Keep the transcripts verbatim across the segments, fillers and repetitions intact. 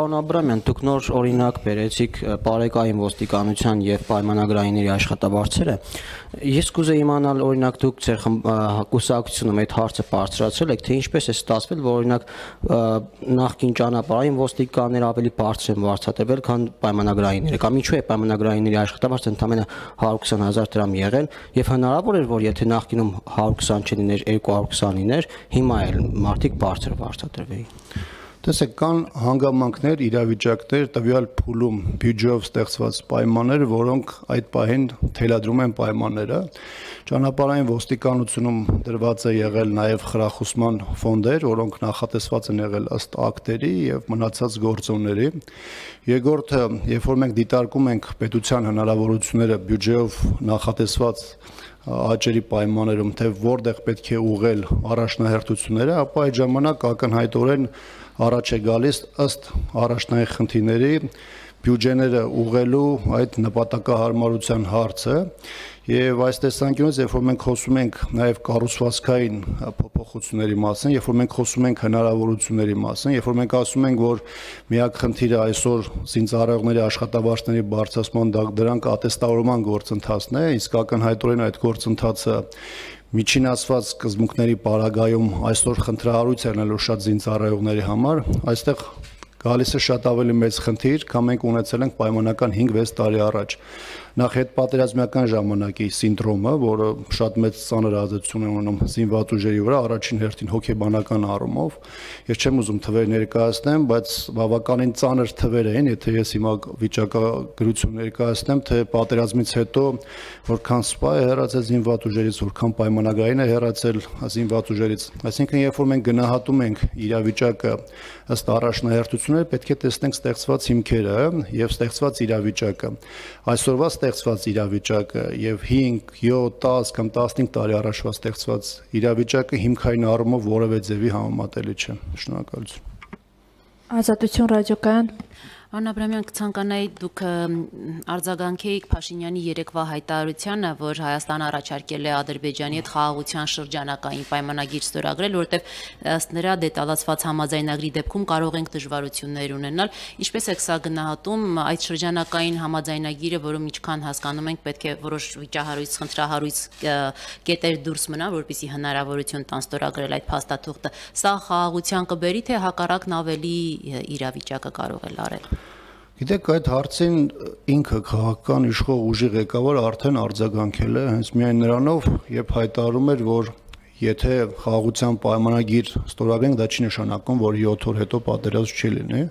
Պարոն Աբրամյան, դուք նոր օրինակ բերեցիք պարեկային ոստիկանության եւ պայմանագրայինների աշխատավարձերը։ Ես կուզեի իմանալ, օրինակ դուք ձեր կուսակցությունում այդ հարցը բարձրացրել եք, թե ինչպես է ստացվել, որ օրինակ նախկին ճանապարհային ոստիկանները ավելի բարձր են վարձատրվել, քան պայմանագրայինները, կամ ինչու է պայմանագրայինների աշխատավարձը ընդամենը հարյուր քսան հազար դրամ եղել, եւ հնարավոր էր, որ եթե նախկինում հարյուր քսան չլիներ, երկու հարյուր քսան լիներ, հիմա էլ մարդիկ բարձր վարձատրվեին։ Տեսեք, կան հանգամանքներ, իրավիճակներ, տվյալ փուլում բյուջեով ստեղծված պայմաններ, որոնք այդ պահին թելադրում են պայմանները։ Ճանապարհային ոստիկանությունում դրված է եղել նաև խրախուսման ֆոնդեր, որոնք նախատեսված են եղել ըստ ակտերի եւ մնացած գործոնների։ Երկրորդը, երբ որ մենք դիտարկում ենք պետության հնարավորությունները բյուջեով նախատեսված աճերի պայմաններում, թե որտեղ պետք է ուղղել առաջնահերթությունները, ապա այդ ժամանակ ակնհայտորեն առաջ է գալիս ըստ առաջնային խնդիրների բյուջեները ուղղելու այդ նպատակահարմարության հարցը եւ այս տեսանկյունից երբ որ մենք խոսում ենք նաեւ կառուցվածքային փոփոխությունների մասին, երբ որ մենք խոսում ենք հնարավորությունների մասին, երբ որ մենք ասում ենք, որ միակ խնդիրը այսօր զինծառայողների աշխատավարձների բարձրացման դրանք ատեստավորման գործընթացն է, իսկ ակնհայտորեն այդ գործընթացը միջին ասված սկզբունքների պարագայում այսօր խնդրահարույց է լինելու շատ զինծառայողների համար, այստեղ գալիս է շատ ավելի մեծ խնդիր, քան մենք ունեցել ենք պայմանական հինգ-վեց տարի առաջ։ Նախ հետպատերազմյան ժամանակի սինդրոմը, որը շատ մեծ ծանր ազդեցություն է ունենում զինված ուժերի վրա, առաջին հերթին հոգեբանական առումով։ Ես չեմ ուզում թվեր ներկայացնեմ, բայց բավականին ծանր թվեր են, եթե ես հիմա վիճակագրություն ներկայացնեմ, թե պատերազմից հետո որքան սպա է հեռացել զինված ուժերից, որքան պայմանագրային է հեռացել զինված ուժերից։ Այսինքն, երբ որ մենք գնահատում ենք իրավիճակը ըստ առաջնահերթությունների, պետք է տեսնենք ստեղծված հիմքերը եւ ստեղծված իրավիճակը։ Այսօրվա ստեղծված իրավիճակը եւ հինգ, յոթ, դաս կամ տասնհինգ տարի առաջվա ստեղծված իրավիճակը հիմքային առումով որևէ ձևի համեմատելի չէ։ Շնորհակալություն։ Ազատություն ռադիոկայան։ Պարոն Աբրամյան, կցանկանայի դուք արձագանքեիք Փաշինյանի երեկվա հայտարարությանը, որ Հայաստանը առաջարկել է Ադրբեջանի հետ խաղաղության շրջանակային պայմանագիր ստորագրել, որովհետև ըստ նրա դետալացված համաձայնագրի դեպքում կարող ենք դժվարություններ ունենալ։ Ինչպես եք սա գնահատում, այդ շրջանակային համաձայնագիրը, որում ինչքան հասկանում ենք, պետք է որոշ վիճահարույց, խնդրահարույց կետեր դուրս մնան, որպեսզի հնարավորություն տան ստորագրել այդ փաստաթուղթը։ Սա խաղաղության կբերի, թե հակառակն ավելի իրավիճակը կարող է լարել։ Գիտեք, այդ հարցին ինքը քաղաքական իշխող ուժի ղեկավարը արդեն արձագանքել է, հենց միայն նրանով, երբ հայտարարում էր, որ եթե խաղաղության պայմանագիր ստորագրենք, դա չի նշանակում, որ յոթ օր հետո պատերազմ չի լինի։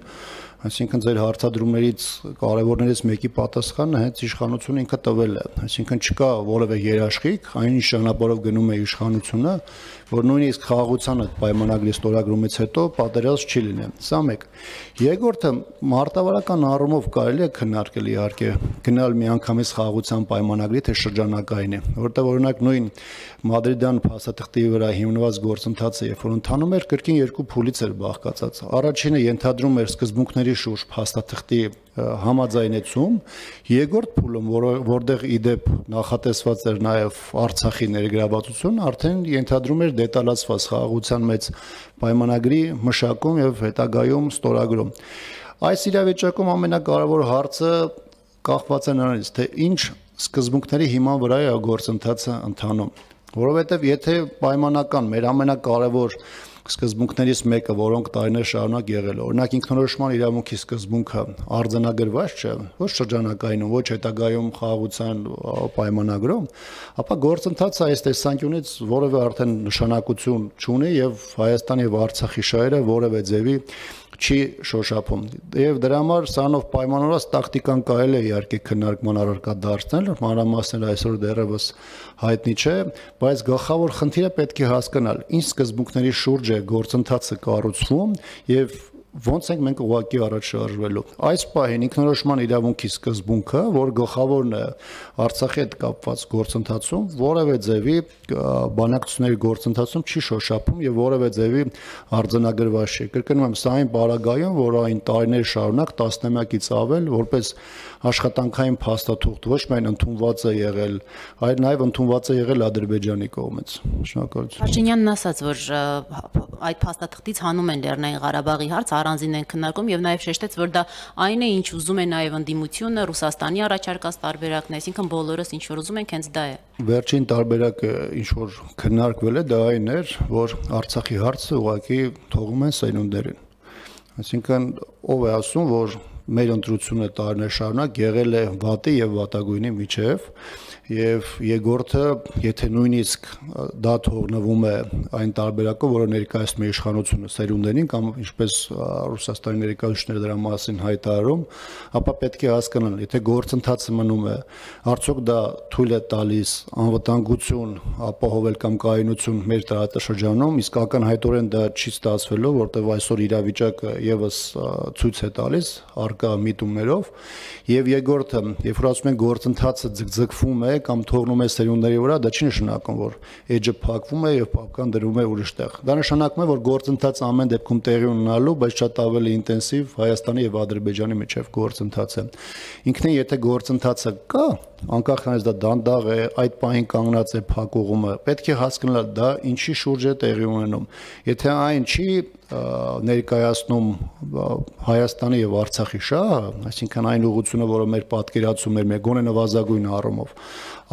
Այսինքն ձեր հարցադրումներից կարևորներից մեկի պատասխանը հենց իշխանությունը ինքը տվել է։ Այսինքն չկա որևէ երաշխիք, այն ինչ ճանապարհով գնում է իշխանությունը, որ նույնիսկ խաղաղության պայմանագրի ստորագրումից հետո պատերազմ չի լինի։ Սա մեկ։ Երկրորդը, մարտավարական առումով կարելի է քննարկել իհարկե գնալ միանգամից խաղաղության պայմանագրի, թե շրջանակային է, որտեղ օրինակ նույն Մադրիդյան փաստաթղթի վրա հիմնված գործընթացը, երբ որ ընթանում էր, կրկին երկու փուլից էր բաղկացած։ Առաջինը ենթադրում էր սկզբունքների շուրջ փաստաթղթի համաձայնեցում, երկրորդ փուլում, որտեղ իդեպ նախատեսված էր նաև Արցախի ներգրավվածություն, արդեն ենթադրում էր դետալացված խաղաղության մեծ պայմանագրի մշակում եւ հետագայում ստորագրում։ Այս իրավիճակում ամենակարևոր հարցը կախված է նրանից, թե ինչ սկզբունքների հիման վրա է գործընթացը ընթանում, որովհետեւ եթե պայմանական մեր ամենակարևոր սկզբունքներից մեկը, որոնք տարիներ շարունակ եղել է, օրինակ ինքնորոշման իրավունքի սկզբունքը արձանագրված չէ, ոչ շրջանակայինում, ոչ հետագայում խաղաղության պայմանագրում, ապա գործընթացը այս տեսանկյունից որևէ արդեն նշանակություն չունի եւ Հայաստանի եւ Արցախի շահերը որևէ ձևի չի շոշափում։ Եվ դրա համար սրանով պայմանավորված տակտիկան կարելի է իհարկե քննարկման առարկա դարձնել, մանրամասները այսօր դեռևս հայտնի չէ, բայց գլխավոր խնդիրը պետք է հասկանալ, ինչ սկզբունքների շուրջ է գործընթացը կառուցվում եւ ոնց ենք մենք ուղղակի առաջ շարժվելու։ Այս պահին ինքնորոշման իրավունքի սկզբունքը, որ գլխավորն է Արցախի հետ կապված գործընթացում, որևէ ձևի բանակցությունների գործընթացում չի շոշափում եւ որևէ ձևի արձանագրված չի։ Կրկնում եմ, սա այն պարագայում, որ այն տարիներ շարունակ տասնամյակից ավել, որպես աշխատանքային փաստաթուղթ ոչ միայն ընդունված է եղել, այլ նաեւ ընդունված է եղել Ադրբեջանի կողմից։ Շնորհակալություն։ Փաշինյանն ասաց, որ այդ փաստաթղթից հանում են Լեռնային Ղարաբաղի հարց, առանձին են քննարկում եւ նաեւ շեշտեց, որ դա այն է, ինչ ուզում է նաեւ ընդդիմությունը, Ռուսաստանի առաջարկած տարբերակն է, այսինքն բոլորս ինչ որ ուզում ենք, հենց դա է։ Վերջին տարբերակը ինչ որ քննարկվել է, դա այն էր, որ Արցախի հարցը ուղղակի թողում են սերունդերին։ Այսինքն ով է ասում, որ մեր ընտրությունը տարիներ շարունակ եղել է վատի եւ վատագույնի միջև եւ երկրորդը, եթե նույնիսկ դա թողնվում է այն տարբերակով, որը ներկայացնում է իշխանությունը սերունդերին կամ ինչպես Ռուսաստանի ներկայացուցիչները դրա մասին հայտարարում, ապա պետք է հասկանալ, եթե գործընթացը մնում է, արդյոք դա թույլ է տալիս անվտանգություն ապահովել կամ կայունություն մեր տարածաշրջանում, իսկ ակնհայտորեն դա չի ստացվելու, որտեղ այսօր իրավիճակը եւս ցույց է տալիս արկա միտումներով, եւ երկրորդը, երբ որ ասում են գործընթացը ձգձգվում է կամ թողնում է սերունդների վրա, դա չի նշանակում, որ էջը փակվում է եւ պապկան դրվում է ուրիշ տեղ։ Դա նշանակում է, որ գործընթացը ամեն դեպքում տեղի ունենալու, բայց շատ ավելի ինտենսիվ Հայաստանի եւ Ադրբեջանի միջև գործընթացը։ Ինքնին եթե գործընթացը կա, անկախ նրանից դա դանդաղ է, այդ պահին կանգնած է փակուղումը, պետք է հասկանալ դա ինչի շուրջ է տեղի ունենում։ Եթե այն չի ներկայացնում Հայաստանի եւ Արցախի շահը, այսինքն այն ուղղությունը, որը մեր պատկերացում էր, մեր գոնե նվազագույն առումով,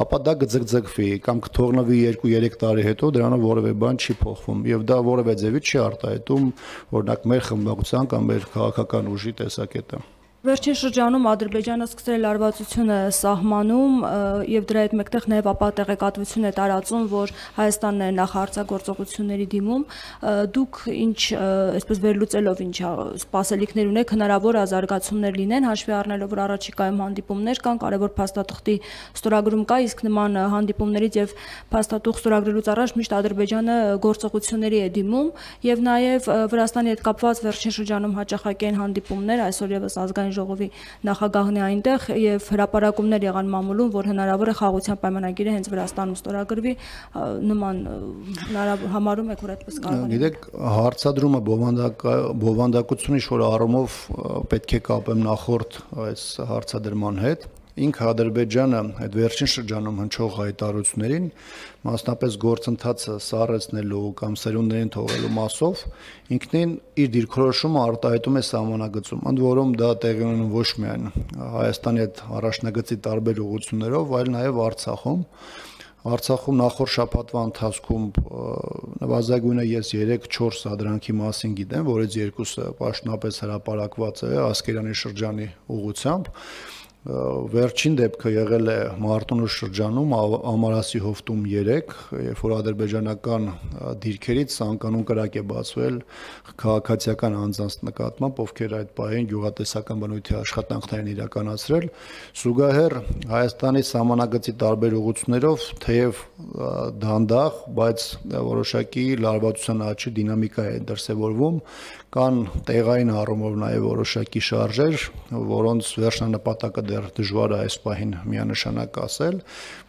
ապա դա կձգձգվի կամ կթողնվի երկու երեք տարի հետո դրանով որևէ բան չի փոխվում եւ դա որևէ ձևի չի արտահայտում օրինակ մեր խմբակցության կամ մեր քաղաքական ուժի տեսակետը։ Վերջին շրջանում Ադրբեջանը սկսել է լարվածությունը սահմանում եւ դրա հետ մեկտեղ նաեւ ապա տեղեկատվություն է տարածում, որ Հայաստանն է նախարարցագործողությունների դիմում։ Դուք ինչ, այսպես վերլուծելով ինչ սպասելիքներ ունեք, հնարավոր ազարգացումներ լինեն, հաշվի առնելով, որ առաջիկայում հանդիպումներ կան, կարևոր փաստաթղթի ստորագրում կա, իսկ նման հանդիպումներից եւ փաստաթուղթ ստորագրելուց առաջ միշտ Ադրբեջանը գործողությունների է դիմում եւ նաեւ Վրաստանի հետ կապված վերջին շրջանում հաճախակի են հանդիպումներ, այսօր եւս ազգային ժողովի նախագահն է այնտեղ եւ հրապարակումներ եղան մամուլում, որ հնարավոր է խաղաղության պայմանագիրը հենց Վրաստանում ստորագրվի, նման համարում եք, որ այդպես կարող է։ Գիտեք, հարցադրումը բովանդակությունը ինչ-որ առումով պետք է կապեմ նախորդ այս հարցադրման հետ։ Ինքը Ադրբեջանը այդ վերջին շրջանում հնչող հայտարարություններին, մասնապես գործընթացը սառեցնելու կամ սերունդներին թողելու մասով, ինքնին իր դիրքորոշումը արտահայտում է սահմանագծում, ընդ որում դա տեղի ունենում ոչ միայն Հայաստանի հետ առաջնագծի տարբեր ուղղություններով, այլ նաև Արցախում։ Արցախում նախորդ շաբաթվա ընթացքում նվազագույնը ես երեք-չորս սադրանքի մասին գիտեմ, որից երկուսը պաշտոնապես հրապարակված է Ասկերանի շրջանի ուղղությամբ։ Վերջին դեպքը եղել է Մարտունու շրջանում Ամարասի հովտում երեք, երբ որ ադրբեջանական դիրքերից ցանկանուն կրակ է բացվել քաղաքացիական անձանց նկատմամբ, ովքեր այդ պահին գյուղատնտեսական բնույթի աշխատանքներ են իրականացրել, զուգահեռ Հայաստանի սահմանագծի տարբեր ուղղություններով թեև դանդաղ, բայց որոշակի լարվածության աճի դինամիկա է դրսևորվում, կան տեղային առումով նաև որոշակի շարժեր, որոնց վերջնանպատակը դեռ դժվար է այս պահին միանշանակ ասել,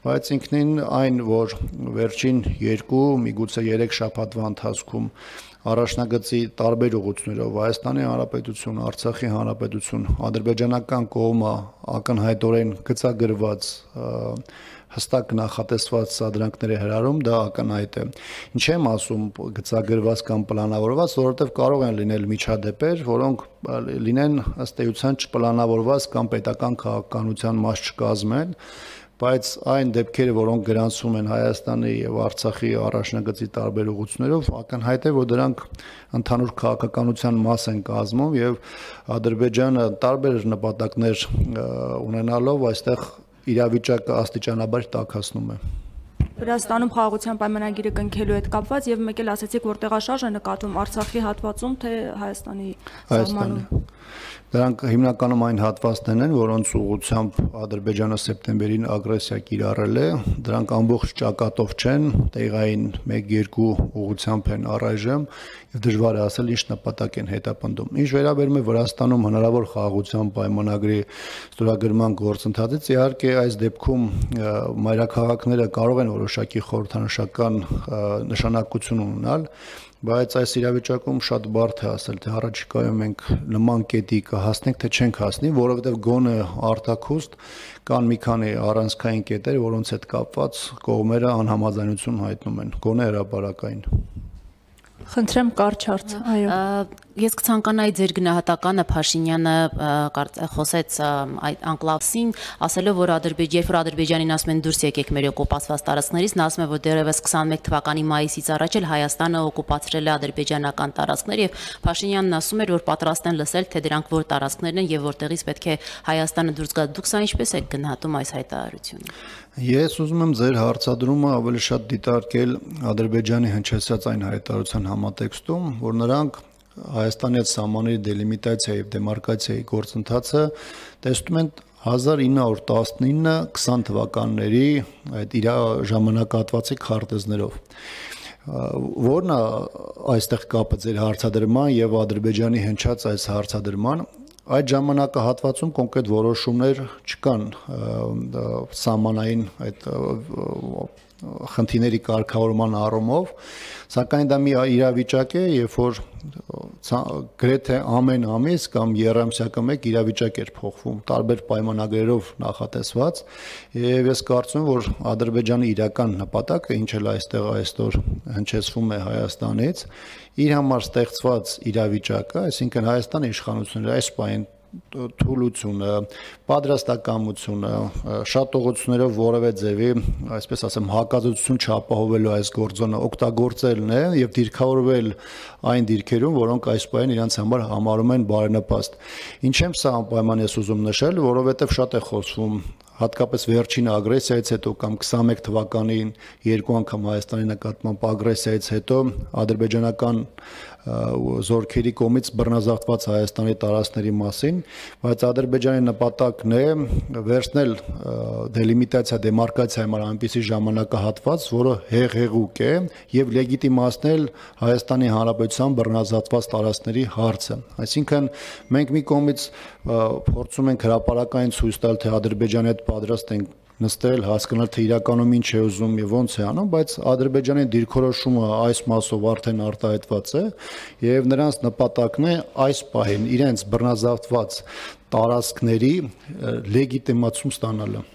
բայց ինքնին այն, որ վերջին երկու, միգուցե երեք շաբաթվա ընթացքում առաջնագծի տարբեր ուղղություններով Հայաստանի Հանրապետություն, Արցախի Հանրապետություն, ադրբեջանական կողմը ակնհայտորեն գծագրված հստակ նախատեսված սադրանքների հրարում դա ակնհայտ է։ Ինչ եմ ասում գծագրված կամ պլանավորված, որովհետև կարող են լինել միջադեպեր, որոնք լինեն ըստ էության չպլանավորված կամ պետական քաղաքականության մաս չկազմեն, բայց այն դեպքերը, որոնք գրանցվում են Հայաստանի եւ Արցախի առաջնագծի տարբեր ուղղություններով, ակնհայտ է, որ դրանք ընդհանուր քաղաքականության մաս են կազմում եւ Ադրբեջանը տարբեր նպատակներ ունենալով այստեղ իրավիճակը աստիճանաբար տաքացնում է։ Վրաստանում խաղաղության պայմանագիրը կնքելու հետ կապված եւ մեկ էլ ասացիք, որ տեղաշարժ է նկատվում Արցախի հատվածում, թե Հայաստանի սահմանում։ Դրանք հիմնականում այն հատվածներն են, որոնց ուղղությամբ Ադրբեջանը սեպտեմբերին ագրեսիա կիրառել է, դրանք ամբողջ ճակատով չեն, տեղային մեկ-երկու ուղղությամբ են առայժմ եւ դժվար է ասել ինչ նպատակ են հետապնդում։ Ինչ վերաբերում է Վրաստանում հնարավոր խաղաղության պայմանագրի ստորագրման գործընթացից, իհարկե այս դեպքում մայրաքաղաքները կարող են որոշակի խորհրդանշական նշանակություն ունենալ, բայց այս իրավիճակում շատ բարդ է ասել, թե առաջիկայում մենք նման կետի կհասնենք, թե չենք հասնի, որովհետև գոնե արտաքուստ կան մի քանի առանցքային կետեր, որոնց հետ կապված կողմերը անհամաձայնություն հայտնում են, գոնե հրապարակային։ Խնդրեմ կարճ հարց, այո։ Ես կցանկանայի ձեր գնահատականը Փաշինյանը խոսեց այդ անկլավսին, ասելով որ Ադրբեջան, երբ որ Ադրբեջանին ասում են դուրս եկեք մեր օկուպացված տարածքներից, նա ասում է որ դեռևս քսանմեկ թվականի մայիսից առաջ էլ Հայաստանը օկուպացրել է ադրբեջանական տարածքներ եւ Փաշինյանն ասում էր որ պատրաստ են լսել թե դրանք որ տարածքներն են եւ որտեղից պետք է Հայաստանը դուրս գա։ Դուք սա ինչպես եք գնահատում այս հայտարարությունը։ Ես ուզում եմ ձեր հարցադրումը ավելի շատ դիտարկել Ադրբեջանի հնչեցած այն հայտարարության համատեքստում, որ նրանք Հայաստանի հետ սահմանների դելիմիտացիայի եւ դեմարկացիայի գործընթացը տեսնում են հազար ինը հարյուր տասնինը քսան թվականների այդ իր ժամանակահատվածի քարտեզներով, որն է այստեղ կապը ձեր հարցադրման եւ Ադրբեջանի հնչած այս հարցադրման։ Այդ ժամանակահատվածում կոնկրետ որոշումներ չկան սահմանային այդ խնդիրների կարգավորման առումով, սակայն դա մի իրավիճակ է, երբ որ գրեթե ամեն ամիս կամ եռամսյակը մեկ իրավիճակ էր փոխվում, տարբեր պայմանագրերով նախատեսված, եւ ես կարծում եմ, որ Ադրբեջանի իրական նպատակը, ինչ էլ այստեղ այսօր հնչեցվում է Հայաստանից, իր համար ստեղծված իրավիճակը, այսինքն Հայաստանի իշխանությունները այս պահին թուլությունը, պատրաստակամությունը, շատողություններով որևէ ձևի, այսպես ասեմ, հակազդեցություն չապահովելու այս գործոնը օգտագործելն է եւ դիրքավորվել այն դիրքերում, որոնք այս պահին իրենց համար համարում են բարենպաստ։ Ինչ եմ սա անպայման ես ուզում նշել, որովհետեւ շատ է խոսվում հատկապես վերջին ագրեսիայից հետո կամ քսանմեկ թվականին երկու անգամ Հայաստանի նկատմամբ ագրեսիայից հետո ադրբեջանական զորքերի կողմից բռնազավթված Հայաստանի տարածքների մասին, բայց Ադրբեջանի նպատակն է վերցնել դելիմիտացիա դեմարկացիա համար այնպիսի ժամանակահատված, որը հեղեղուկ է եւ լեգիտիմացնել Հայաստանի Հանրապետության բռնազավթված տարածքների հարցը։ Այսինքն մենք մի կողմից փորձում ենք հրապարակային ցույց տալ, թե Ադրբեջանի հետ պատրաստ ենք նստել, հասկանալ թե իրականում ինչ է ուզում եւ ոնց է անում, բայց Ադրբեջանի դիրքորոշումը այս մասով արդեն արտահայտված է եւ նրանց նպատակն է այս պահին իրենց բռնազավթված տարածքների լեգիտիմացում ստանալը։